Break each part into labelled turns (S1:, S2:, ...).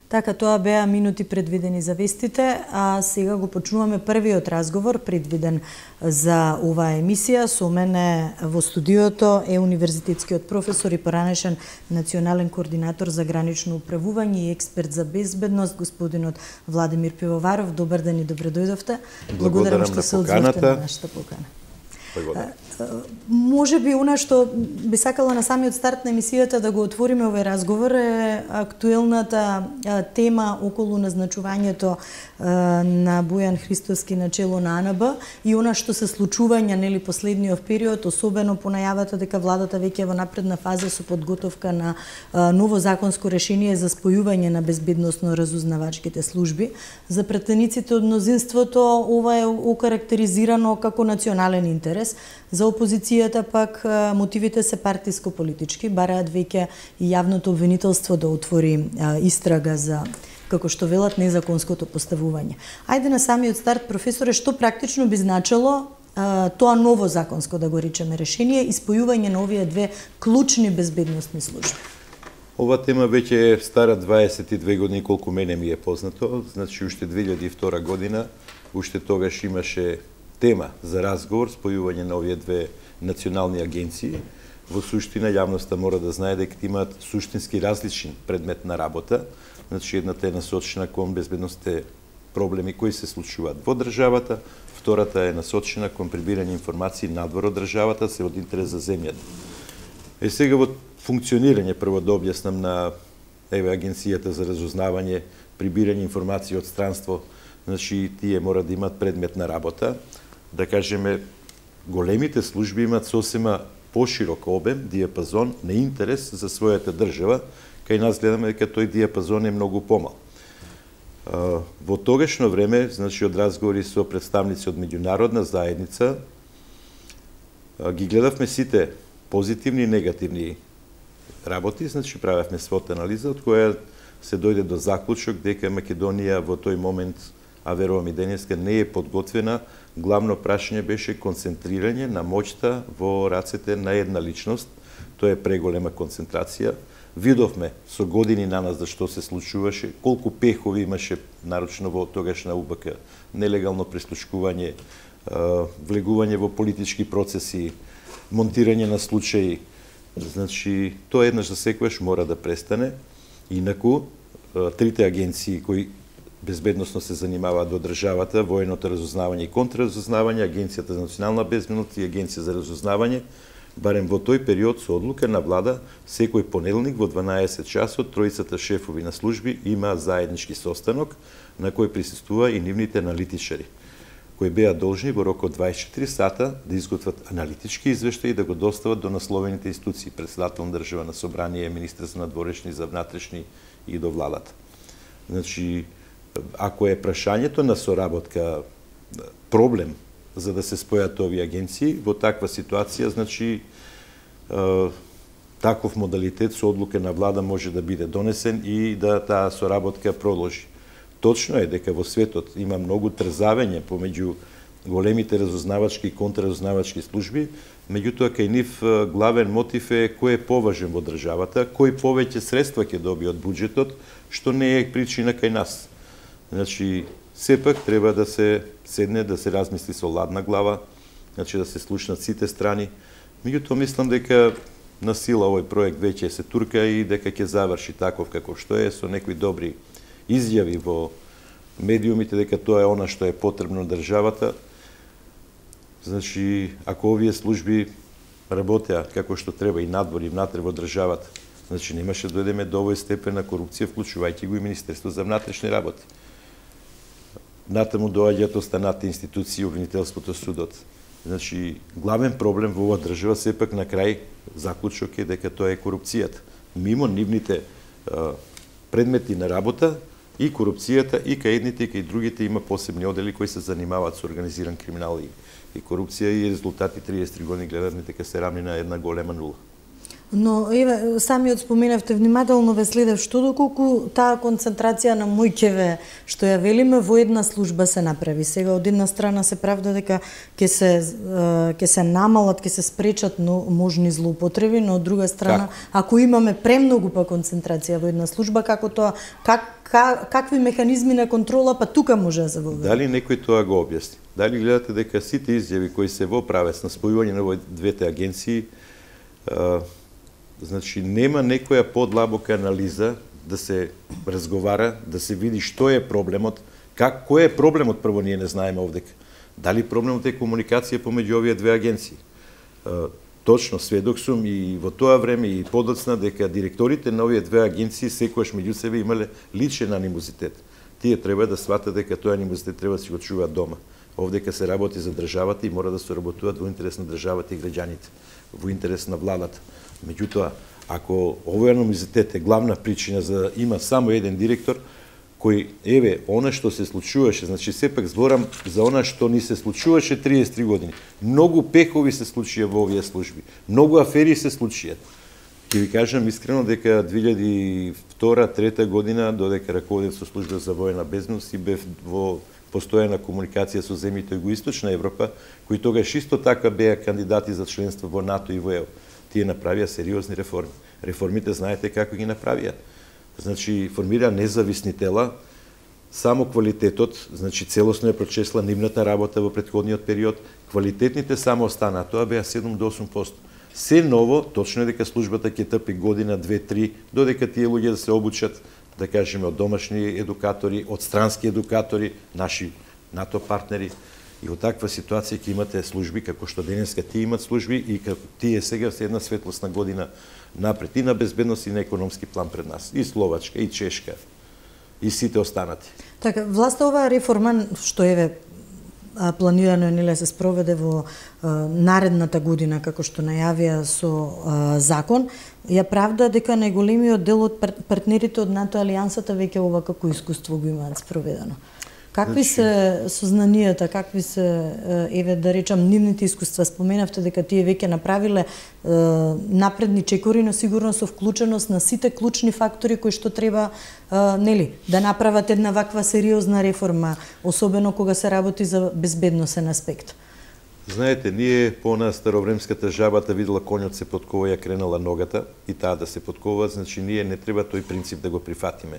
S1: Така, тоа беа минути предвидени за вестите, а сега го почнуваме првиот разговор предвиден за оваа емисија. Со мене во студиото е универзитетскиот професор и поранешен национален координатор за гранично управување и експерт за безбедност, господинот Владимир Пивоваров. Добар ден и добре дојдовте.
S2: Благодарам
S1: што се одзовте на нашата покана. Може би она што би сакала на самиот старт на емисијата да го отвориме овој разговор е актуелната тема околу назначувањето на Бојан Христоски на чело на АНБ и она што се случувања нели последниот период, особено по најавата дека владата веќе е во напредна фаза со подготовка на ново законско решение за спојување на безбедносно-разузнавачките служби. За претениците од мнозинството ова е окарактеризирано како национален интерес. За опозицијата пак мотивите се партиско-политички, бараат веќе и јавното обвинителство да отвори истрага за, како што велат, незаконското поставување. Ајде на самиот старт, професоре, што практично би значело тоа ново законско, да го речеме, решение и спојување на овие две клучни безбедносни служби?
S2: Ова тема веќе е стара 22 години, колку мене ми е познато. Значи, уште 2002 година, уште тогаш имаше тема за разговор, спојување на овие две национални агенции. Во суштина, јавноста мора да знае дека имаат суштински различен предмет на работа. Значи, едната е насочена кон безбедносните проблеми кои се случуваат во државата, втората е насочена кон прибирање информации надвор од државата, се од интерес за земјата. Сега во функционирање, прво да објаснам на Агенцијата за разузнавање, прибирање информации од странство, значи тие мора да имаат предмет на работа. Да кажеме, големите служби имаат сосема поширок обем, диапазон на интерес за својата држава, кај нас гледаме дека тој диапазон е многу помал. Во тогашно време, значи од разговори со представници од меѓународна заедница, ги гледавме сите позитивни и негативни работи, значи правевме својата анализа, од која се дојде до заклучок дека Македонија во тој момент, а верувам и денеска, не е подготвена. Главно прашање беше концентрирање на моќта во рацете на една личност. Тоа е преголема концентрација. Видовме со години на нас за што се случуваше, колку пехови имаше, нарочно во тогашна УБК, нелегално прислушкување, влегување во политички процеси, монтирање на случаи. Значи, тоа еднаш за секогаш мора да престане. Инаку, трите агенции кои безбедносно се занимаваат во државата, военото разузнавање и контраразузнавање, Агенцијата за национална безбедност и Агенција за разузнавање, барем во тој период со одлука на влада, секој понеделник во 12 часот тројцата шефови на служби има заеднички состанок на кој присуствува и нивните аналитичари, кои беа должни во рок од 24 сата да изготват аналитички извештаи и да го достават до насловените институции, председател на државно собрание, министар за надворешни, за внатрешни и до владата. Значи, ако е прашањето на соработка проблем за да се спојат овие агенции, во таква ситуација, значи, таков модалитет со одлука на влада може да биде донесен и да таа соработка продолжи. Точно е дека во светот има многу трзавење помеѓу големите разузнавачки и контраразузнавачки служби, меѓутоа кај нив главен мотив е кој е поважен во државата, кој повеќе средства ќе добие од буџетот, што не е причина кај нас. Значи, сепак треба да се седне, да се размисли со ладна глава, значи да се слушнат сите страни. Меѓутоа мислам дека на сила овој проект веќе се турка и дека ќе заврши таков како што е, со некои добри изјави во медиумите дека тоа е она што е потребно на државата. Значи, ако овие служби работеа како што треба и надвор и внатре во државата, значи немаше да дојдеме до овој степен на корупција, вклучувајќи го и Министерство за внатрешни работи. Натаму доаѓаат останати институции, обвинителството, судот. Значи, главен проблем во оваа држава сепак на крај заклучок е дека тоа е корупцијата. Мимо нивните предмети на работа и корупцијата и кај едните и кај другите има посебни одели кои се занимаваат со организиран криминал и корупција и резултати 33 години гледаме дека се рамни на една голема нула.
S1: Но еве самиот споменавте, внимателно ве следев, што доколку таа концентрација на моќеве што ја велиме во една служба се направи. Сега од една страна се правда дека ќе се намалат, ќе се спречат можни злоупотреби, но од друга страна ако имаме премногу концентрација во една служба, како тоа какви механизми на контрола па тука може да се воведе?
S2: Дали некој тоа го објасни? Дали гледате дека сите изјави кои се во правец на спојување на двете агенции, значи нема некоја подлабока анализа да се разговара, да се види што е проблемот, кој е проблемот прво ние не знаеме овдека. Дали проблемот е комуникација помеѓу овие две агенции? Точно сведок сум и во тоа време и подоцна дека директорите на овие две агенции секогаш меѓу себе имале личен анимозитет. Тие треба да сватат дека тој анимозитет треба да си го чуваат дома. Овдека се работи за државата и мора да се работуваат во интерес на државата и граѓаните, во интерес на владата. Меѓутоа, ако овој анимозитет е главна причина за да има само еден директор, кој, еве, она што се случуваше, значи сепак зборам за она што ни се случуваше 33 години. Многу пехови се случија во овие служби, многу афери се случија. Ќе ви кажам искрено дека 2002-2003 година, додека раководев со служба за воена безбедност и бев во постојана комуникација со земјите југоисточна Европа, кои тогаш исто така беа кандидати за членство во НАТО и во ЕУ. Тие направија сериозни реформи. Реформите знаете како ги направија. Значи, формира независни тела, само квалитетот, значи целосно ја прочесла нивната работа во претходниот период, квалитетните само останаа, тоа беа 7 до 8%. Се ново, точно е дека службата ќе трпи година, 2-3, додека тие луѓе да се обучат, да кажеме, од домашни едукатори, од странски едукатори, наши НАТО партнери. И од таква ситуација ќе имате служби, како што денеска тие имат служби и како тие сега се една светлосна година напред и на безбедност и на економски план пред нас. И Словачка, и Чешка, и сите останати.
S1: Така, власта оваа реформа, што еве планирано нели се спроведе во наредната година, како што најавија со закон, ја правда дека најголемиот дел од партнерите од НАТО алијансата веќе ова како искуство го имаат спроведено. Какви се сознанијата, какви се, еве да речам, нивните искуства? Споменавте дека тие веќе направиле напредни чекори, но сигурно со вклученост на сите клучни фактори кои што треба нели да направат една ваква сериозна реформа, особено кога се работи за безбедносен аспект.
S2: Знаете, ние по нас старовремската жабата видела конјот се подкова, ја кренала ногата и таа да се подкова, значи ние не треба тој принцип да го прифатиме.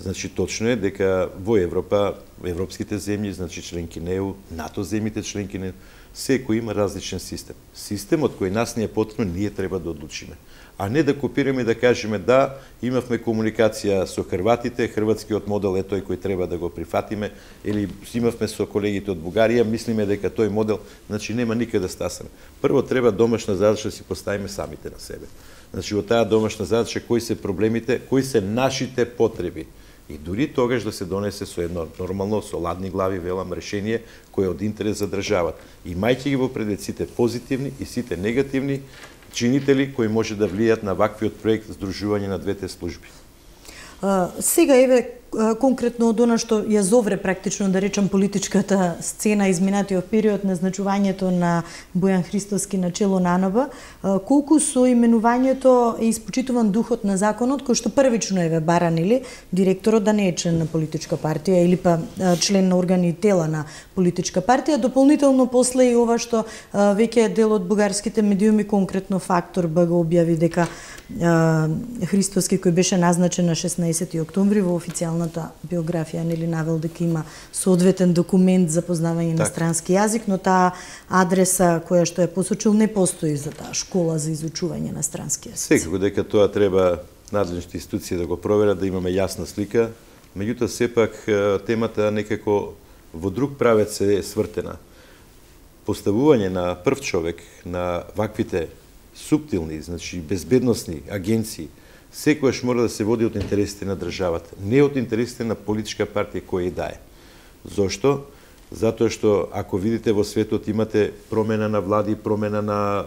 S2: Значи, точно е дека во Европа, европските земји, значи членки на ЕУ, НАТО земјите членки на ЕУ, секој има различен систем. Системот кој нас не е потребен, ние треба да одлучиме. А не да копираме и да кажеме да, имавме комуникација со хрватите, хрватскиот модел е тој кој треба да го прифатиме, или имавме со колегите од Бугарија, мислиме дека тој модел, значи нема никаде да стасаме. Прво треба домашна задача да си поставиме самите на себе. Значи во таа домашна задача кои се проблемите, кои се нашите потреби. И дури тогаш да се донесе со едно нормално, со ладни глави, велам, решение кој е од интерес за државата. Имајќи ги во предвид сите позитивни и сите негативни чинители кои може да влијат на ваквиот проект здружување на двете служби.
S1: Сега еве конкретно од она што ја зовре практично да речам политичката сцена изминатиот период, назначувањето на Бојан Христоски на чело на АНБ, колку со именувањето е испочитуван духот на законот кој што првично еве баран или директорот да не е член на политичка партија или па член на органи и тела на политичка партија, дополнително после и ова што веќе е дел од бугарските медиуми, конкретно Фактор го објави дека Христоски кој беше назначен на 16 октомври во официјалната биографија нели навел дека има соодветен документ за познавање на странски јазик, но таа адреса која што е посочил не постои за таа школа за изучување на странски јазик.
S2: Секако дека тоа треба надлежните институции да го проверат, да имаме јасна слика, меѓутоа сепак темата некако во друг правец е свртена. Поставување на прв човек на ваквите суптилни, значи безбедносни агенции, секојаш мора да се води од интересите на државата, не од интересите на политичка партија која и да е. Зошто? Затоа што ако видите во светот имате промена на влади, промена на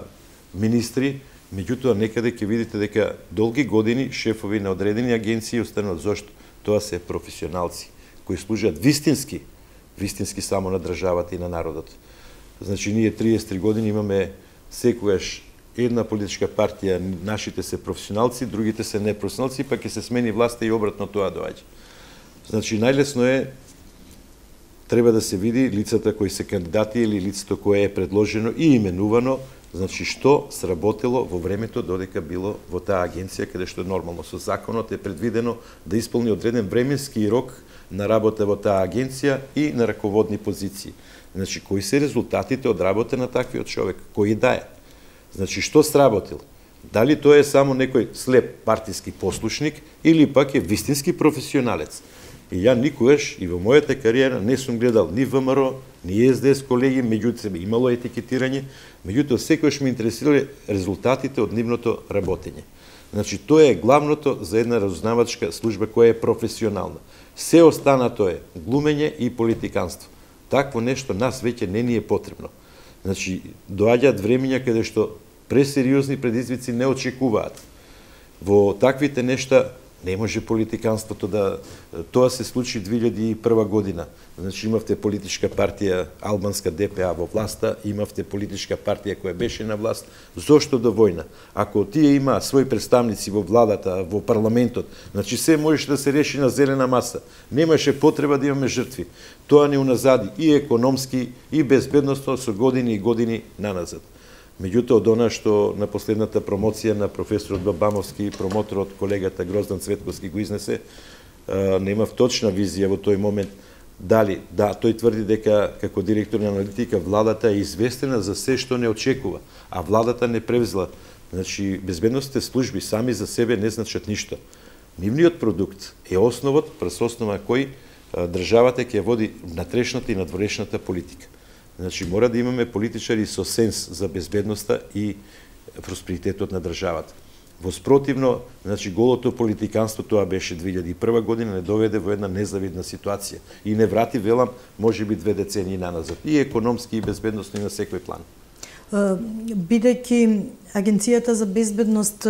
S2: министри, меѓутоа некаде ќе видите дека долги години шефови на одредени агенции остануваат. Зошто? Тоа се професионалци кои служат вистински само на државата и на народот. Значи ние 33 години имаме секогаш една политичка партија, нашите се професионалци, другите се непрофесионалци, па ќе се смени власта и обратно тоа доаѓа. Значи, најлесно е, треба да се види лицата кои се кандидати или лицето кое е предложено и именувано, значи што сработело во времето додека било во таа агенција, каде што нормално со законот е предвидено да исполни одреден временски рок на работа во таа агенција и на раководни позиции. Значи, кои се резултатите од работа на таквиот човек? Кои да е? Значи, што сработил? Дали тоа е само некој слеп партиски послушник или пак е вистински професионалец? И ја никогаш и во мојата кариера не сум гледал ни ВМРО, ни СДС колеги, меѓутоа имало етикетирање, меѓутоа секогаш ме интересирале резултатите од нивното работење. Значи, тоа е главното за една разузнавачка служба која е професионална. Се останато е глумење и политиканство. Такво нешто нас веќе не ни е потребно. Значи, доаѓаат времења каде што пресериозни предизвици не очекуваат. Во таквите нешта не може политиканството да... Тоа се случи 2001 година. Значи, имавте политичка партија албанска ДПА во власта, имавте политичка партија која беше на власт. Зошто до војна? Ако тие има своји представници во владата, во парламентот, значи се можеше да се реши на зелена маса. Немаше потреба да имаме жртви. Тоа не уназади и економски, и безбедносно со години и години наназад. Меѓутоа, од она што на последната промоција на професорот Бабамовски, промоторот колегата Гроздан Цветковски го изнесе, немав точна визија во тој момент дали, да, тој тврди дека како директор на аналитика владата е известена за се што не очекува, а владата не превзела. Значи, безбедносните служби сами за себе не значат ништо. Нивниот продукт е основот, през основа кој државата ќе води натрешната и надворешната политика. Значи, мора да имаме политичари со сенс за безбедноста и просперитетот на државата. Воспротивно, значи, голото политиканство, тоа беше 2001 година, не доведе во една незавидна ситуација и не врати, велам, може би 2 децении наназад. И економски, и безбедностно, и на секој план.
S1: Бидејќи Агенцијата за безбедност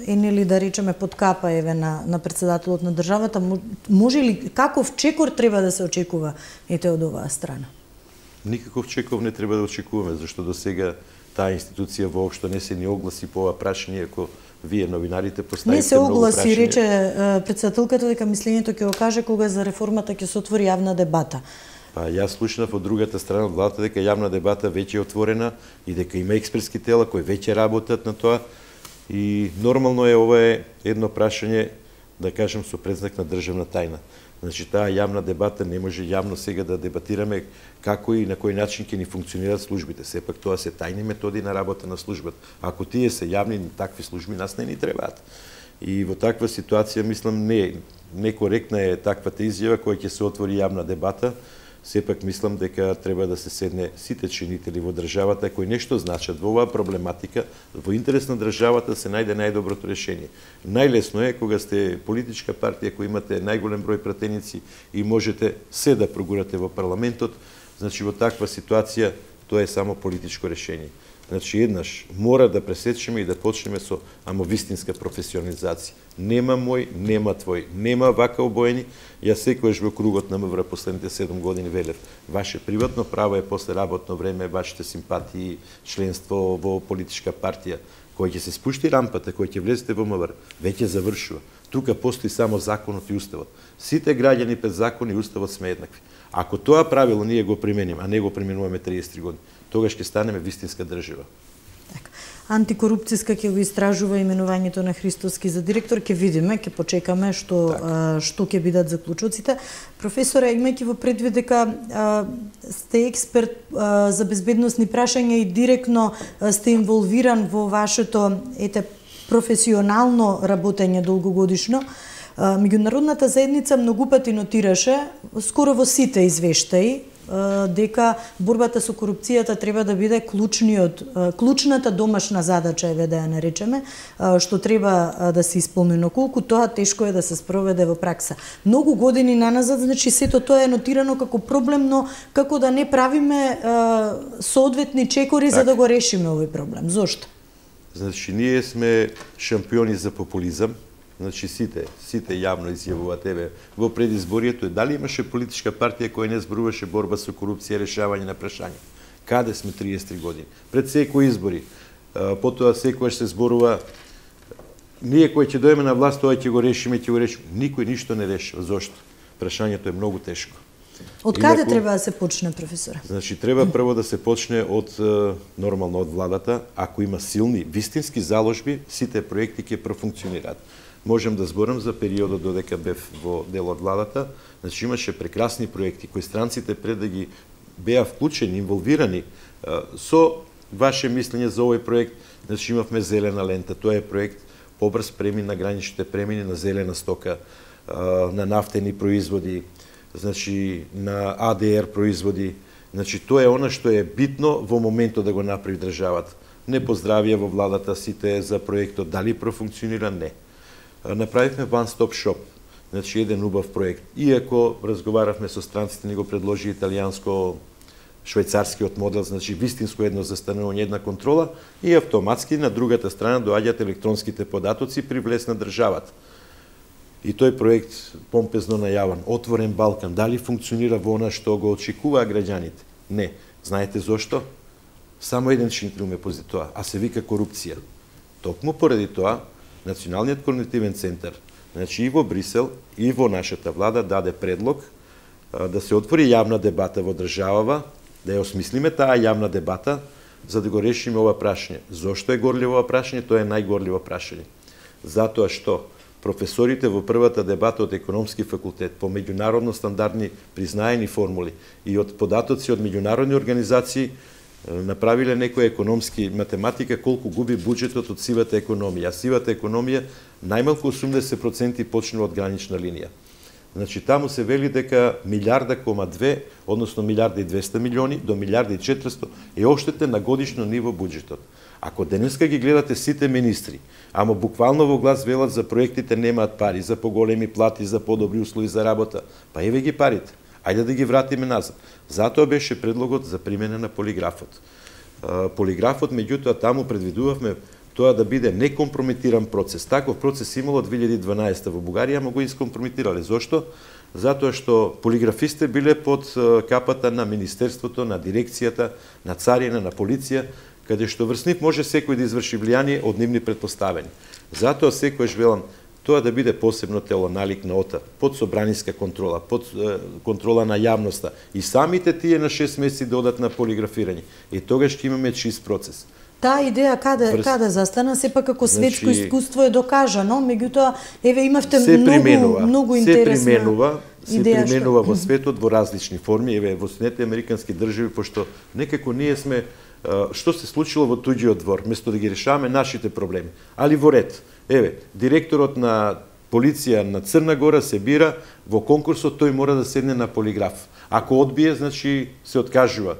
S1: е нели да речеме под капа еве на председателот на државата, може ли каков чекор треба да се очекува ете од оваа страна?
S2: Никаков чекор не треба да очекуваме, зашто до сега таа институција воопшто не се ни огласи по ова прашање, ако вие новинарите поставите
S1: не се огласи, рече председателката дека мислењето ќе го каже кога за реформата ќе се отвори јавна дебата.
S2: Па јас слушнав од другата страна од владата дека јавна дебата веќе е отворена и дека има експертски тела кои веќе работат на тоа и нормално е ова е едно прашање, да кажем, со предзнак на државна тајна. Значи, таа јавна дебата не може јавно сега да дебатираме како и на кој начин ќе ни функционираат службите. Сепак тоа се тајни методи на работа на службата. Ако тие се јавни, такви служби нас не ни требаат. И во таква ситуација, мислам, некоректна е таквата изјава која ќе се отвори јавна дебата. Сепак мислам дека треба да се седне сите чинители во државата кои нешто значат во оваа проблематика, во интерес на државата се најде најдоброто решение. Најлесно е кога сте политичка партија која имате најголем број пратеници и можете се да прогурате во парламентот, значи во таква ситуација тоа е само политичко решение. Значи, еднаш мора да пресечеме и да почнеме со вистинска професионализација. Нема мој, нема твој, нема вака обоени. Јас секогаш во кругот на МВР последните 7 години велев, ваше приватно право е после работно време, вашите симпатии, членство во политичка партија, кој ќе се спушти рампата, кој ќе влезете во МВР, веќе завршува. Тука постои само законот и уставот. Сите граѓани пред закон и уставот сме еднакви. Ако тоа правило ние го примениме, а не го применуваме 33 години, тогаш ќе станеме вистинска држава.
S1: Антикорупцијска ќе го истражува именувањето на Христоски за директор, ќе видиме, ќе почекаме што ќе бидат заклучоците. Професоре, имајќи во предвид дека сте експерт за безбедносни прашања и директно сте инволвиран во вашето професионално работење долгогодишно, меѓународната заедница многу пати нотираше, скоро во сите извештаи, дека борбата со корупцијата треба да биде клучната домашна задача, еве да ја наречеме, што треба да се исполни, но колку тоа тешко е да се спроведе во пракса. Многу години наназад, значи сето тоа е нотирано како проблем, но како да не правиме соодветни чекори за да го решиме овој проблем. Зошто?
S2: Значи, ние сме шампиони за популизам. Значи, сите јавно изјавуваат, еве, во предизборието, дали имаше политичка партија која не зборуваше борба со корупција, решавање на прашања? Каде сме 33 години? Пред секои избори, потоа секогаш се зборува ние кои ќе дојдеме на власт, тоа ќе го решиме, Никој ништо не решава. Зошто? Прашањето е многу тешко.
S1: Од каде треба да се почне, професоре?
S2: Значи, треба прво да се почне од нормално од владата. Ако има силни, вистински заложби, сите проекти ќе профункционираат. Можем да зборам за периодот додека бев во дел од владата. Значи, имаше прекрасни проекти кои странците пред да ги беа вклучени, инволвирани со ваше мислење за овој проект. Значи, имавме зелена лента. Тоа е проект побрз премин на граничните премини на зелена стока, на нафтени производи, значи на АДР производи. Значи тоа е она што е битно во моментот да го направи државата. Не поздравија во владата сите за проектот, дали профункционира? Не. Направивме One Stop Shop, значи еден убав проект. Иако разговаравме со странците, ни го предложи италијанско швајцарскиот модел, значи вистинско едно застанување, една контрола и автоматски на другата страна доаѓаат електронските податоци при влез на државата. И тој проект помпезно најаван, Отворен Балкан, дали функционира во она што го очекуваа граѓаните? Не. Знаете зошто? Само еден шинтрил ме пози тоа, а се вика корупција. Токму поради тоа, Националниот координативен центар, значи и во Брисел, и во нашата влада даде предлог да се отвори јавна дебата во државава, да ја осмислиме таа јавна дебата, за да го решиме ова прашање. Зошто е горливо ова прашање? Тоа е најгорливо прашање. Затоа што професорите во првата дебата од економски факултет по меѓународно стандардни признаени формули и од податоци од меѓународни организации направиле некоја економски математика колку губи буџетот од сивата економија. А сивата економија најмалку 80% почнува од гранична линија. Значи, таму се вели дека 1,2, односно 1,2 милиони до 1,4 е оштетен на годишно ниво буџетот. Ако денеска ги гледате сите министри, ама буквално во глас велат за проектите немаат пари, за поголеми плати, за подобри услови за работа, па еве ги парите. Ајде да ги вратиме назад. Затоа беше предлогот за примена на полиграфот. Полиграфот, меѓутоа, таму предвидувавме тоа да биде некомпрометиран процес. Таков процес имало 2012 во Бугарија, ама го искомпрометирале. Зошто? Затоа што полиграфистите биле под капата на Министерството, на дирекцијата, на царина, на полиција, каде што врз нив може секој да изврши влијание од нивни претпоставени. Затоа секојаш велам тоа да биде посебно тело налик на ОТА, под собраниска контрола, под контрола на јавноста. И самите тие на 6 месеци да одат на полиграфирање. И тогаш ќе имаме чист процес.
S1: Таа идеја каде застана, сепак како светско искуство е докажано, меѓутоа еве имавте многу интересна
S2: се применува во светот во различни форми, еве во Соединетите американски држави, пошто некако ние сме што се случило во туѓиот двор, место да ги решаваме нашите проблеми. Али во ред. Еве, директорот на полиција на Црна Гора се бира во конкурсот, тој мора да седне на полиграф. Ако одбие, значи се откажува.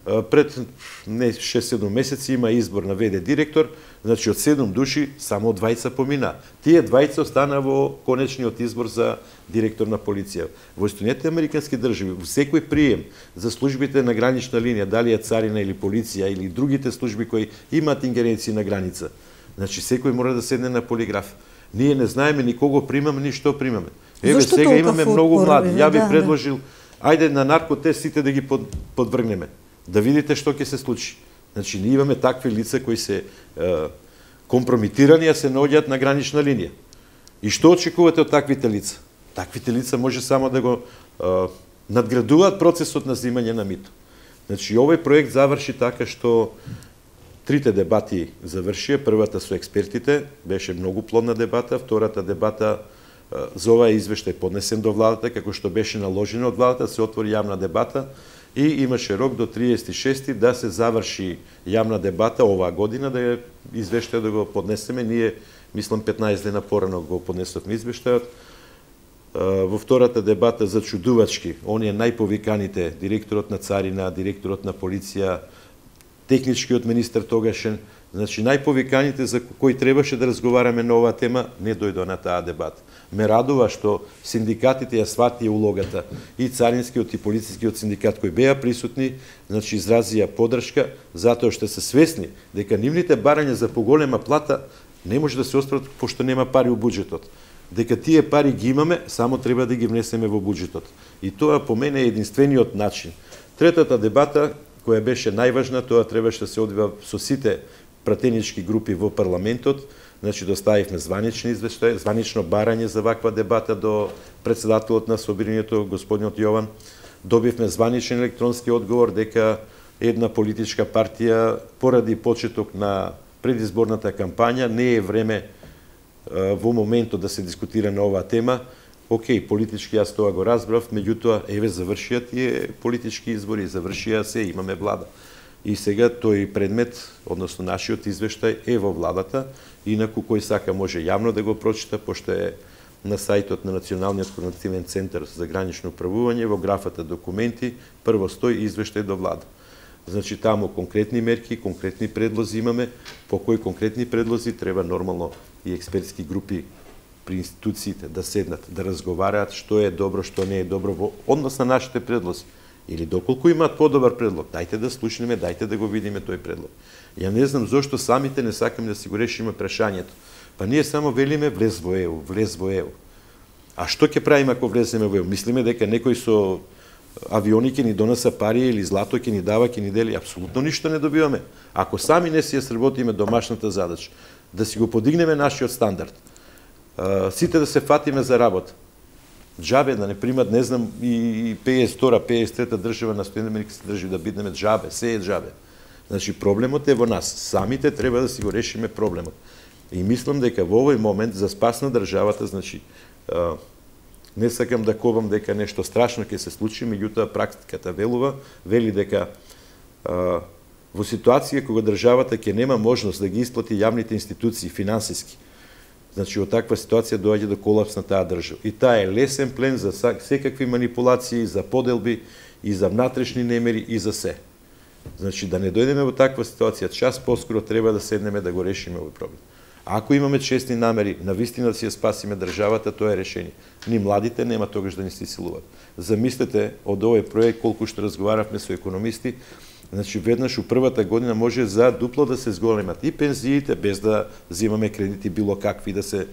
S2: Пред 6-7 месеци има избор на ВД директор, значи од 7 души само 2 помина. Тие 2 остана во конечниот избор за директор на полиција. Во Соединетите американски држави, во секој прием за службите на гранична линија, дали е царина или полиција или другите служби кои имаат ингеренции на граница, значи секој мора да седне на полиграф. Ние не знаеме ни кого примаме, ни што примаме. Еве сега имаме многу млади. Ја би предложил, ајде на наркотест сите да ги подвргнеме. Да видите што ќе се случи. Значи, ние имаме такви лица кои се компрометирани, а се наоѓаат на гранична линија. И што очекувате од таквите лица? Таквите лица може само да го надградуваат процесот на земање на мито. Значи, овој проект заврши така што трите дебати завршија. Првата со експертите, беше многу плодна дебата. Втората дебата за оваа извештај поднесен до владата, како што беше наложено од владата, се отвори јавна дебата и имаше рок до 36 да се заврши јавна дебата оваа година, да ја извештај да го поднесеме. Ние, мислам, 15 дена порано го поднесовме извештајот. Во втората дебата за чудувачки, оние најповиканите, директорот на царина, директорот на полиција, техничкиот министер тогашен, значи најповиканите за кои требаше да разговараме на оваа тема, не дојдоа на таа дебата. Ме радува што синдикатите ја сватија улогата, и царинскиот и полицискиот синдикат кои беа присутни, значи изразија поддршка, затоа што се свесни дека нивните барања за поголема плата не може да се остварат пошто нема пари у буџетот. Дека тие пари ги имаме, само треба да ги внесеме во буџетот. И тоа по мене е единствениот начин. Третата дебата, која беше најважна, тоа требаше да се одвива со сите пратенички групи во парламентот, значи доставивме званични извештаи, званично барање за ваква дебата до председателот на Собранието, господинот Јован. Добивме званичен електронски одговор дека една политичка партија поради почеток на предизборната кампања не е време во моментот да се дискутира на оваа тема. Океј, политички јас тоа го разбрав, меѓутоа еве завршија тие политички избори, завршија се, имаме влада. И сега тој предмет, односно нашиот извештај е во владата, инаку кој сака може јавно да го прочита, пошто е на сајтот на Националниот координативен центар за гранично управување, во графата документи, прво стои извештај до влада. Значи таму конкретни мерки, конкретни предлози имаме, по кои конкретни предлози треба нормално и експертски групи при институциите да седнат, да разговараат што е добро, што не е добро во однос на нашите предлози. Или доколку имаат подобар предлог, дајте да слушнеме, дајте да го видиме тој предлог. Ја не знам зошто самите не сакаме да си го решиме прашањето. Па ние само велиме влез во ЕУ, влез во ЕУ. А што ќе правиме ако влеземе во ЕУ? Мислиме дека некој со авиони ќе ни донеса пари или злато ќе ни дава, ќе ни дели? Апсолутно ништо не добиваме. Ако сами не си ја сработиме домашната задача, да си го подигнеме нашиот стандард, сите да се фатиме за работа. Джабе да не примат, не знам, и 52-та, 53-та држава на Соединените американски држави да бидеме джабе, се е джабе. Значи проблемот е во нас. Самите треба да си го решиме проблемот. И мислам дека во овој момент за спас на државата, значи не сакам да кобам дека нешто страшно ќе се случи, меѓутоа практиката вели дека во ситуација кога државата ќе нема можност да ги исплати јавните институции финансиски, значи во таква ситуација доаѓа до колапс на таа држава. И таа е лесен плен за секакви манипулации, за поделби и за внатрешни немери и за се. Значи да не дојдеме во таква ситуација, час поскоро треба да седнеме да го решиме овој проблем. Ако имаме честни намери, навистина да си ја спасиме државата, тоа е решение. Ни младите нема тогаш да ни се силуваат. Замислете од овој проект колку што разговаравме со економисти, значи веднаш у првата година може за дупло да се зголемат и пензиите, без да взимаме кредити било какви, да се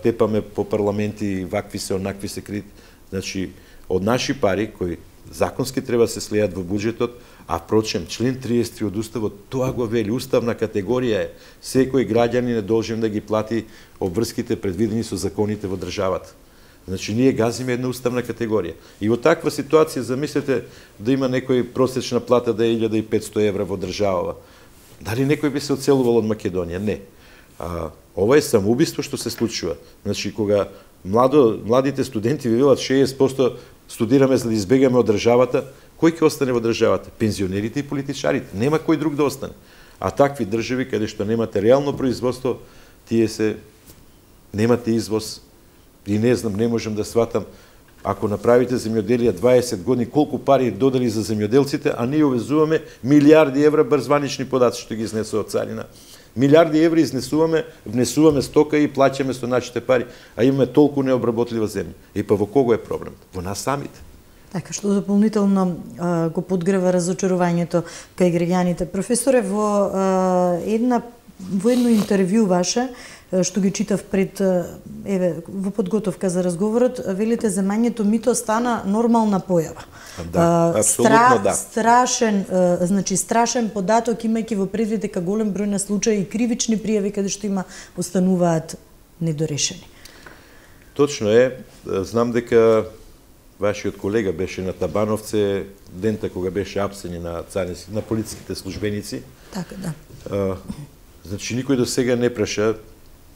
S2: тепаме по парламенти, вакви се, онакви се кредити. Значи, од наши пари, кои законски треба да се слеат во буџетот, а впрочем, член 30 од Уставот, тоа го вели, уставна категорија е, секој граѓанин е должен да ги плати обврските предвидени со законите во државата. Значи, ние газиме една уставна категорија. И во таква ситуација, замислете да има некој просечна плата да е 1500 евра во државава. Дали некој би се оцелувал од Македонија? Не. Ова е самоубиство што се случува. Значи, кога младите студенти ви велат 60% студираме за да избегаме од државата, кој ќе остане во државата? Пензионерите и политичарите. Нема кој друг да остане. А такви држави, каде што немате реално производство, тие се немате извоз. И не знам, не можам да сватам, ако направите земјоделие 20 години, колку пари додели за земјоделците, а ние увезуваме милиарди евра брзванични подаци што ги изнесува царина. Милиарди евра изнесуваме, внесуваме стока и плаќаме со нашите пари, а имаме толку необработлива земја. И па во кого е проблем? Во нас самите.
S1: Така, што дополнително го подгрева разочарувањето кај граѓаните. Професоре, во едно интервју ваше, што ги читав пред во подготовка за разговорот, велите земањето мито стана нормална појава.
S2: Да, апсолутно да.
S1: Страшен податок, имајќи во предвид дека голем број на случаи и кривични пријави каде што остануваат недорешени.
S2: Точно е, знам дека вашиот колега беше на Табановце дента кога беше апсење на полициските службеници.
S1: Така, да.
S2: Значи никој до сега не праша.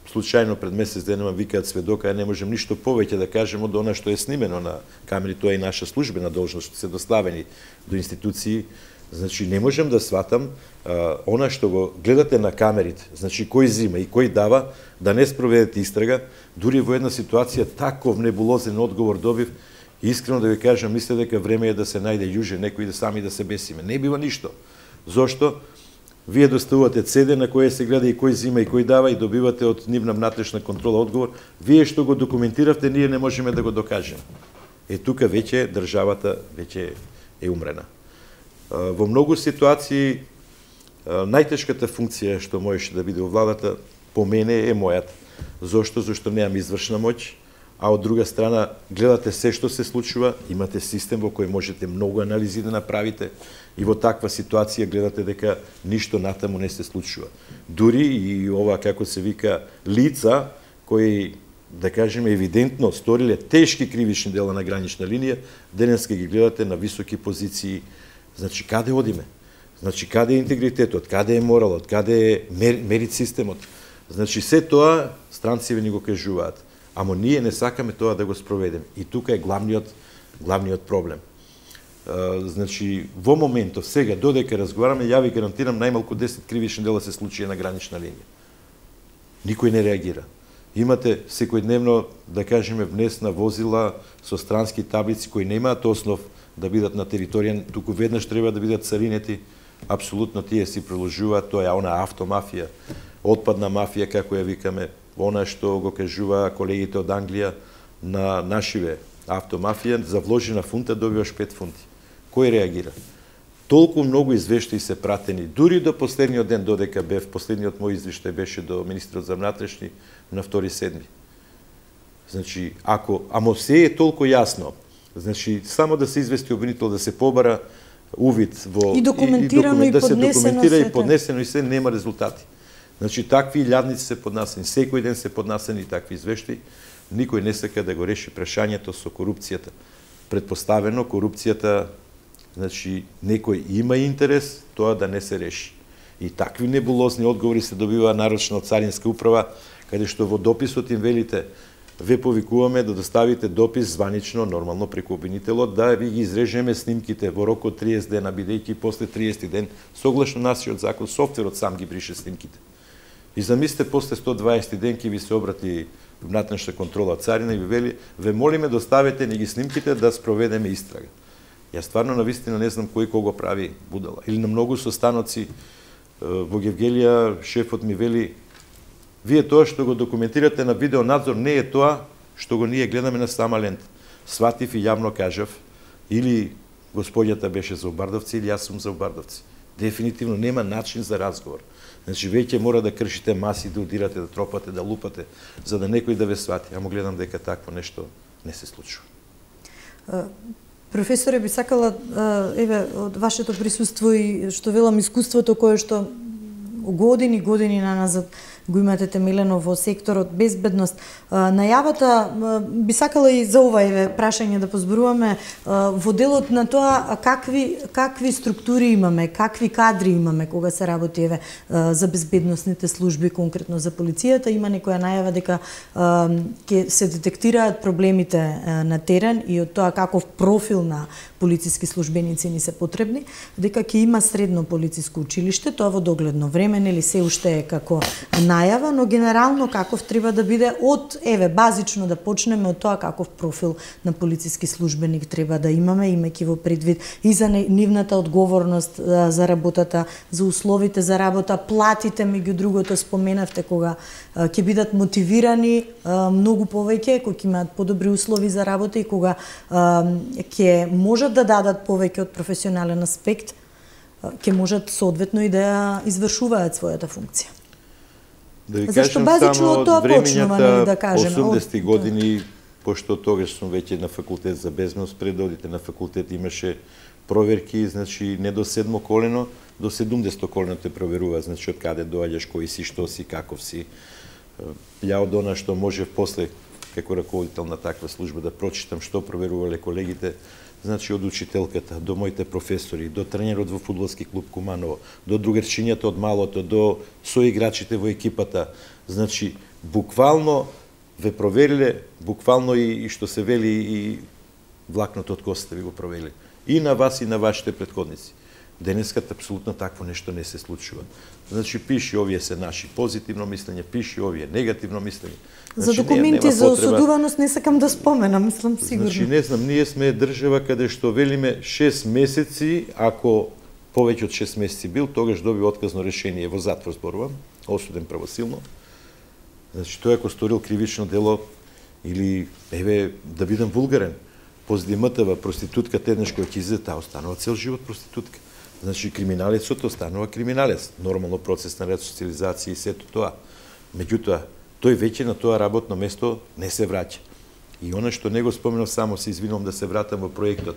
S2: Случајно пред месец денема викаат сведока, не можем ништо повеќе да кажеме од она што е снимено на камери, тоа е и наша службена должност, што се доставени до институции. Значи не можем да сватам она што го гледате на камерите, значи кој зима и кој дава, да не спроведете истрага, дури во една ситуација таков небулозен одговор добив, искрено да ви кажам, мисле дека време е да се најде јуже некој да сами да се бесиме. Не бива ништо. Зошто? Вие доставувате CD на кој се гледа и кој зима и кој дава и добивате од нивна внатрешна контрола одговор. Вие што го документиравте, ние не можеме да го докажеме. Тука веќе државата веќе е умрена. Во многу ситуации најтешката функција што можеше да биде во владата по мене е мојата. Зошто? Зошто немам извршна моќ, а од друга страна гледате се што се случува, имате систем во кој можете многу анализи да направите и во таква ситуација гледате дека ништо натаму не се случува. Дури и ова, како се вика, лица кои, да кажеме, евидентно сториле тешки кривични дела на гранична линија, денеска ги гледате на високи позиции. Значи, каде одиме? Значи, каде е интегритетот, каде е моралот, каде е мерит системот? Значи, се тоа странците ни го кажуваат. Ама ние не сакаме тоа да го спроведеме. И тука е главниот проблем. Значи, во моментов, сега, додека разговараме, ја ви гарантирам, најмалку 10 кривични дела се случи на гранична линија. Никој не реагира. Имате секојдневно, да кажеме, внесна возила со странски таблици кои немаат основ да бидат на територија, туку веднаш треба да бидат царинети. Апсолутно тие си приложуваат, тоа е она автомафија, отпадна мафија, како ја викаме, она што го кажува колегите од Англија на нашиве автомафија, за вложена фунта добиваш 5 фунти. Кој реагира? Толку многу извештаи се пратени, дури до последниот ден додека бев, последниот мој извештај беше до министрот за внатрешни на 2.7. Значи, амо се е толку јасно, значи, само да се извести обвинител, да се побара увид во...
S1: И документирано и
S2: да се
S1: поднесено
S2: документира
S1: сето.
S2: и поднесено и се, нема резултати. Значи, такви илјадници се поднасени, секој ден се поднасени такви извештаи, никој не сака да го реши прашањето со корупцијата. Предпоставено, корупцијата, значи, некој има интерес тоа да не се реши. И такви небулозни одговори се добива нарочно од Царинска управа, каде што во дописот им велите, ве повикуваме да доставите допис званично, нормално преку обвинителот, да ви ги изрежеме снимките во рок од 30 дена, бидејќи после 30 ден, согласно нашиот закон, софтверот сам ги брише снимките. И замислите, после 120 ден ќе ви се обрати внатрешна контрола царина и ви вели, ве молиме доставете ни ги снимките да спроведеме истрага. Јас стварно навистина не знам кој кого прави будала. Или на многу состаноци во Гевгелија шефот ми вели, вие тоа што го документирате на видеонадзор не е тоа што го ние гледаме на сама лента. Сватив и јавно кажав, или господјата беше за Обардовци, или јас сум за Обардовци. Дефинитивно нема начин за разговор. Значи, веќе мора да кршите маси, да удирате, да тропате, да лупате, за да некој да ве свати. Амо гледам дека такво нешто не се случува.
S1: Професоре, би сакала, еве, од вашето присуство и што велам искуството кое што години наназад го имате темелено во секторот безбедност. Најавата би сакала и за ова еве прашање да позборуваме во делот на тоа какви структури имаме, какви кадри имаме кога се работи еве за безбедносните служби, конкретно за полицијата. Има некоја најава дека ќе се детектираат проблемите на терен и од тоа каков профил на полициски службеници ни се потребни, дека ќе има средно полициско училиште, тоа во догледно време, нели се уште е како најава, но генерално каков треба да биде од, еве, базично да почнеме од тоа каков профил на полициски службеник треба да имаме, имајќи во предвид и за нивната одговорност за работата, за условите за работа, платите, меѓу другото споменавте кога ќе бидат мотивирани многу повеќе, кога ќе имаат подобри услови за работа и кога ќе можат да дадат повеќе од професионален аспект, ќе можат соодветно и да извршуваат својата функција.
S2: Да ви
S1: Зашто
S2: кажам
S1: базично
S2: само
S1: од тоа почнува, нели, да кажеме.
S2: 80 години, пошто тогаш сум веќе на факултет за безбедност, пред да одите на факултет имаше проверки, значи не до 7 колено, до 70 колено те проверува, значи од каде доаѓаш, кој си, што си, каков си. Ја од она што можев после како раководител на таква служба да прочитам што проверувале колегите, значи од учителката, до моите професори, до тренерот во фудбалски клуб Куманово, до другарчињата од малото, до соиграчите во екипата. Значи, буквално ве провериле, буквално и што се вели и влакното од косата ви го провериле. И на вас и на вашите претходници. Денеската апсолутно такво нешто не се случува. Значи, пиши овие се наши позитивно мислење, пиши овие негативно мислење.
S1: За документи за осудуваност не сакам да споменам, мислам сигурно.
S2: Значи, не знам, ние сме држава каде што велиме 6 месеци, ако повеќе од 6 месеци бил, тогаш доби отказно решение во затвор, зборувам, осуден правосилно. Значи, тој ако сторил кривично дело, или, еве, да бидам вулгарен, поздимата проститутката еднаш која ќе излезе, таа останува цел живот проститутка. Значи, криминалецот останува криминалец. Нормално процес на ресоциализација и сето тоа. Меѓутоа, тој веќе на тоа работно место не се враќа. И она што не го споменав, само се извинувам да се вратам во проектот.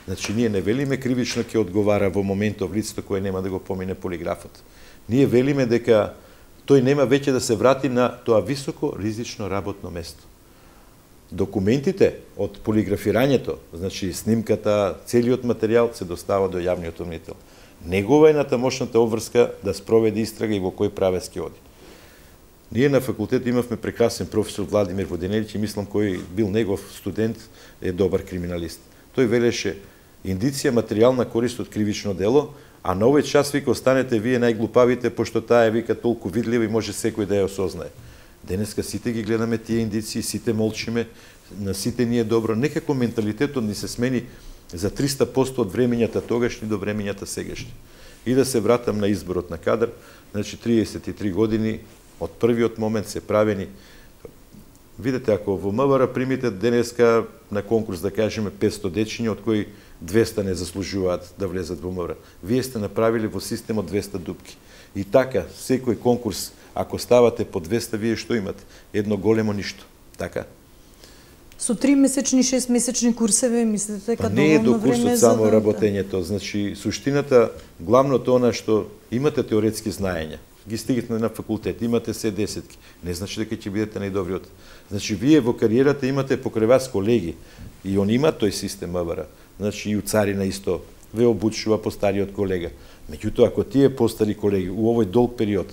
S2: Значи, ние не велиме кривично ќе одговара во моментов лицето кое нема да го помине полиграфот. Ние велиме дека тој нема веќе да се врати на тоа високо ризично работно место. Документите од полиграфирањето, значи снимката, целиот материјал се достава до јавниот обвинител. Негова е натамошната обврска да спроведе истрага и во кој правец ќе оди. Ние на факултет имавме прекрасен професор Владимир Воденелич и мислам кој бил негов студент е добар криминалист. Тој велеше индиција материјална корист од кривично дело, а на овој час вика останете вие најглупавите, пошто таа е вика толку видлива и може секој да ја осознае. Денеска сите ги гледаме тие индиции, сите молчиме, на сите ни е добро. Некако менталитетот ни се смени за 300% од времењата тогашни до времењата сегашни. И да се вратам на изборот на кадар, значи 33 години од првиот момент се правени. Видете, ако во МВР примите денеска на конкурс, да кажеме 500 дечиња, од кои 200 не заслужуваат да влезат во МВР. Вие сте направили во системот 200 дупки. И така, секој конкурс, ако ставате по 200, вие што имате? Едно големо ништо. Така?
S1: Со 3-месечни, 6-месечни курсеви, мислите дека
S2: не е до курсот само
S1: да...
S2: работењето. Значи, суштината, главното она што имате теоретски знаења, ги стигнете на факултет, имате се десетки, не значи дека ќе бидете најдобриот. Значи, вие во кариерата имате покрај вас колеги, и он има тој систем МВР. Значи, и у царина исто ве обучува постариот колега. Меѓутоа, ако тие постари колеги у овој долг период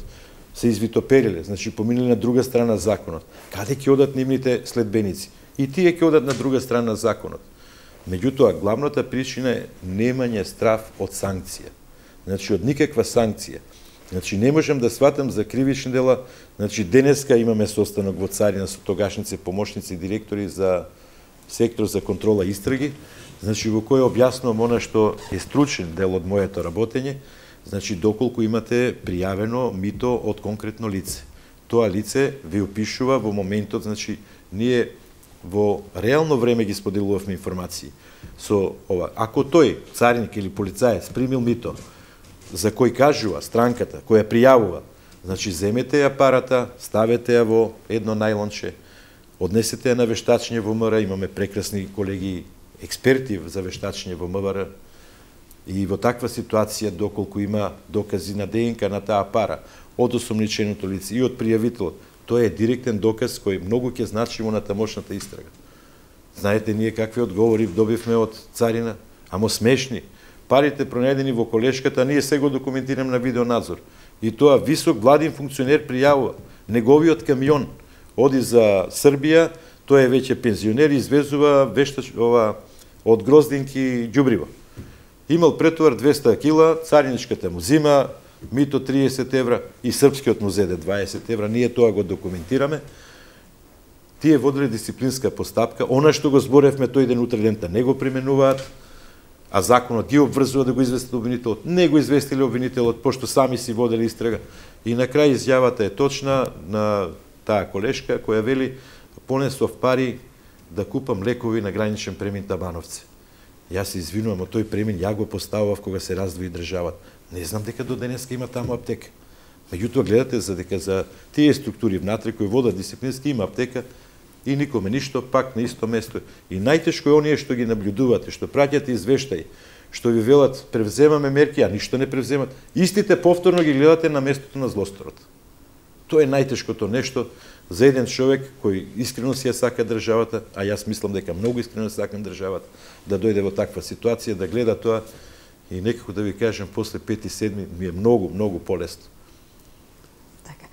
S2: се извитопериле, значи поминали на друга страна законот, каде ќе одат нивните следбеници? И тие ќе одат на друга страна законот. Меѓутоа, главната причина е немање страв од санкција. Значи, од никаква санкција. Значи, не можам да сватам за кривични дела. Значи, денеска имаме состанок во царина со тогашници помошници и директори за сектор за контрола и истраги, значи, во кој објаснувам она што е стручен дел од моето работење, значи, доколку имате пријавено мито од конкретно лице. Тоа лице ви опишува во моментот, значи, ние во реално време ги споделувавме информации. Со ова, ако тој, цариник или полицаец, примил мито, за кој кажува странката, која пријавува, значи, земете ја парата, ставете ја во едно најлонче, однесете ја на вештачење во МВР, имаме прекрасни колеги, експерти за вештачење во МВР, и во таква ситуација, доколку има докази на ДНК на таа пара, од осомниченото лице и од пријавителот, тоа е директен доказ кој многу ќе значи во натамошната истрага. Знаете, ние какви одговори добивме од царина, амо смешни. Парите пронајдени во колешката, ние се го документираме на видеонадзор. И тоа висок владин функционер пријавува. Неговиот камион оди за Србија, тој е веќе пензионер и извезува од Гроздинки ѓубриво. Имал претовар 200 кила, цариничката му зима, мито 30 евра и српскиот му зеде 20 евра, ние тоа го документираме. Тие водиле дисциплинска постапка, она што го зборевме тој ден утре дента не го применуваат, а законот ги обврзува да го известат обвинителот. Не го известиле обвинителот, пошто сами си водели истрага. И на крај изјавата е точна на таа колешка, која вели, понесов пари да купам лекови на граничен премин Табановци. Јас се извинувам, од тој премин ја го поставав кога се раздвои државата. Не знам дека до денеска има таму аптека. Меѓутоа, гледате за дека за тие структури внатре кои водат дисциплински има аптека и никоме ништо, пак на исто место. И најтешко е оние што ги наблюдувате, што праќате извештаи, што ви велат превземаме мерки, а ништо не превземат. Истите повторно ги гледате на местото на злосторот. Тоа е најтешкото нешто за еден човек кој искрено си ја сака државата, а јас мислам дека многу искрено сакам државата, да дојде во таква ситуација, да гледа тоа и некако да ви кажем, после 5-7 ми е многу, многу полесно.
S1: Така.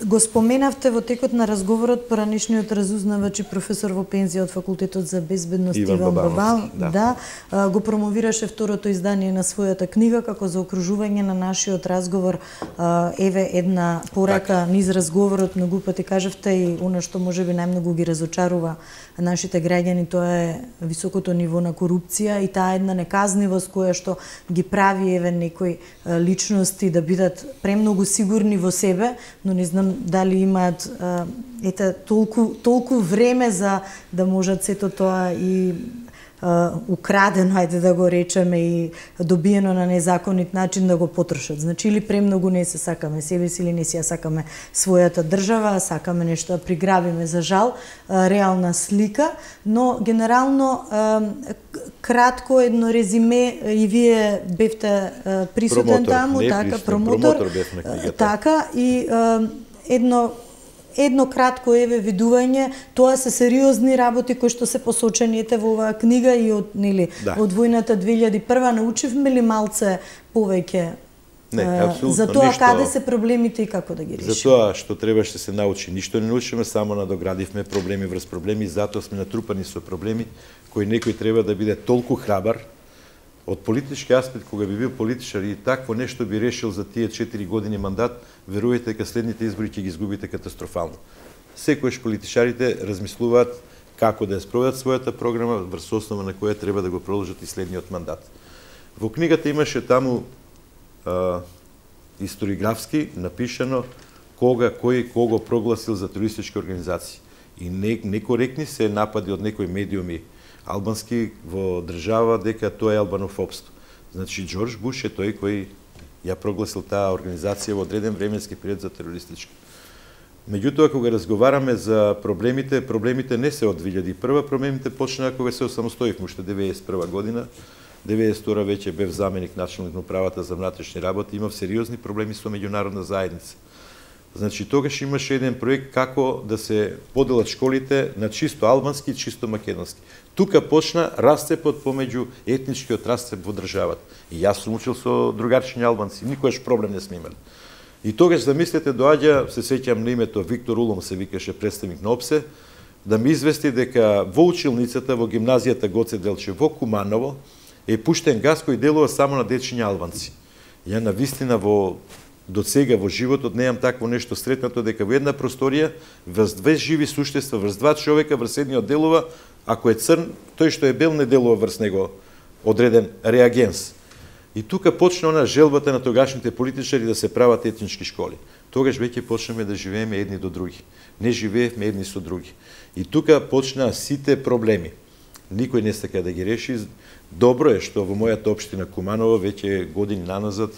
S1: Го споменавте во текот на разговорот поранешниот разузнавач и професор во пензија од Факултетот за безбедност Иван Бабан, да, го промовираше второто издание на својата книга како заокружување на нашиот разговор. Еве една порака низ разговорот, многу пати кажавте и она што можеби најмногу ги разочарува нашите граѓани, тоа е високото ниво на корупција и таа една неказнивост која што ги прави еве некои личности да бидат премногу сигурни во себе, но не знам дали имаат толку време за да можат сето тоа и украдено, ајде да го речеме, и добиено на незаконит начин да го потрошат. Значи, или премногу не се сакаме себе си, или не си ја сакаме својата држава, сакаме нешто да приграбиме, за жал, реална слика, но генерално кратко едно резиме, и вие бевте присутен таму, така, промотор
S2: бев на книгата.
S1: Така, и едно кратко видување, тоа се сериозни работи кои што се посочени во оваа книга, и од војната 2001 научивме ли малце повеќе за тоа каде се проблемите и како да ги решиме?
S2: За тоа што требаше се научи, ништо не научиме, само надоградивме проблеми врз проблеми, затоа сме натрупани со проблеми кои некој треба да биде толку храбар од политички аспект, кога би бил политичар и такво нешто би решил за тие 4 години мандат, верувајте дека следните избори ќе ги изгубите катастрофално. Секојаш политичарите размислуваат како да ја спроведат својата програма, врз основа на која треба да го продолжат и следниот мандат. Во книгата имаше таму историографски напишано кога, кој, кого прогласил за терористички организации. И некоректни се напади од некои медиуми албански во држава дека тоа е албанофобство. Значи, Џорџ Буш е тој кој ја прогласил таа организација во одреден временски период за терористичка. Меѓутоа, кога разговараме за проблемите, проблемите не се од 2001, проблемите почнаа кога се осамостоивме, уште 1991 година. 1992 веќе бев заменик началник на управата за внатрешни работи, имав сериозни проблеми со меѓународна заедница. Значи, тогаш имаше еден проект како да се поделат школите на чисто албански и чисто македонски. Тука почна расцепот помеѓу етничкиот расцеп во државата. И јас сум учил со другарчиња албанци, никогаш проблем не сме имали. И тогаш, замислете, доаѓа, се сеќам на името Виктор Улом, се викаше представник на ОПСЕ, да ми извести дека во училницата, во гимназијата Гоце Делчев во Куманово, е пуштен газ кој делува само на дечиња албанци. Ја навистина до сега во животот неам такво нешто сретнато, дека во една просторија врз две живи суштества, врз два човека, врз едниот делува, ако е црн, тој што е бел не делува врз него одреден реагенс. И тука почна она желбата на тогашните политичари да се прават етнички школи. Тогаш веќе почнеме да живееме едни до други. Не живеевме едни со други. И тука почнаа сите проблеми. Никој не сака да ги реши. Добро е што во мојата општина Куманово веќе години наназад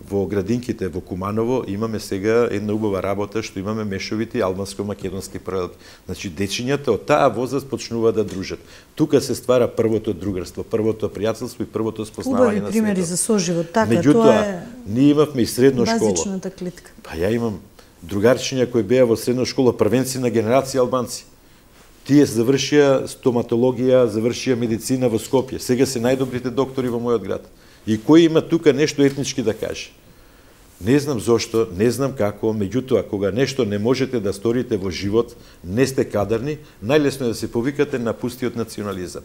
S2: во градинките во Куманово имаме сега една убава работа што имаме мешовити албанско-македонски паралелки. Значи дечињата од таа возраст почнуваат да дружат. Тука се ствара првото другарство, првото пријателство и првото спознавање на светот.
S1: Убави примери за соживот, така.
S2: Меѓутоа, ние имавме и средно школа.
S1: Базичната клетка.
S2: Па ја имам другарчиња кои беа во средна школа, првенци на генерација албанци. Тие завршија стоматологија, завршија медицина во Скопје. Сега се најдобрите доктори во мојот град. И кој има тука нешто етнички да каже? Не знам зошто, не знам како, меѓутоа, кога нешто не можете да сторите во живот, не сте кадарни, најлесно е да се повикате на пустиот национализам.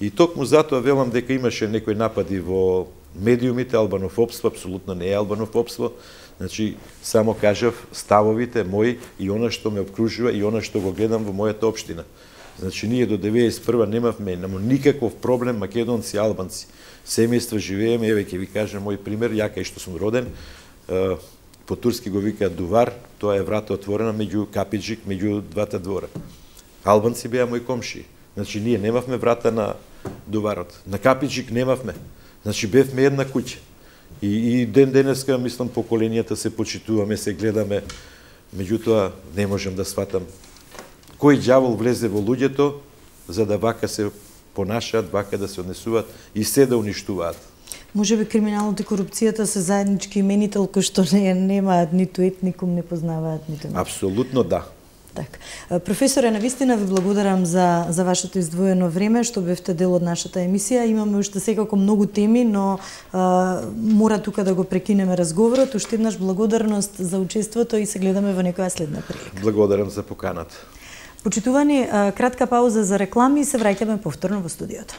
S2: И токму затоа велам дека имаше некои напади во медиумите, албанофобство, апсолутно не е албанофобство. Значи, само кажав ставовите мои и она што ме обкружува и она што го гледам во мојата општина. Значи, ние до 1991 немавме никаков проблем македонци, албанци. Семејства живееме, еве ќе ви кажам мој пример, ја кај што сум роден, по турски го викаат Дувар, тоа е врата отворена меѓу Капиџик, меѓу двата двора. Албанци беа мои комшии. Значи, ние немавме врата на Дуварот. На Капиџик немавме. Значи, бевме една куќа. И ден денеска, мислам, поколенијата се почитуваме, се гледаме, меѓутоа не можам да сватам кој ѓавол влезе во луѓето за да вака се понашаат, вака да се однесуваат и се да уништуваат.
S1: Може би криминалот и корупцијата се заеднички именител кој што немаат ниту етникум, не познаваат ниту.
S2: Апсолутно да.
S1: Так. Професоре, навистина ви благодарам за вашето издвоено време, што бевте дел од нашата емисија. Имаме уште секако многу теми, но мора тука да го прекинеме разговорот. Уште еднаш благодарност за учеството и се гледаме во некоја следна прилика.
S2: Благодарам за поканата.
S1: Почитувани, кратка пауза за реклами и се враќаме повторно во студиото.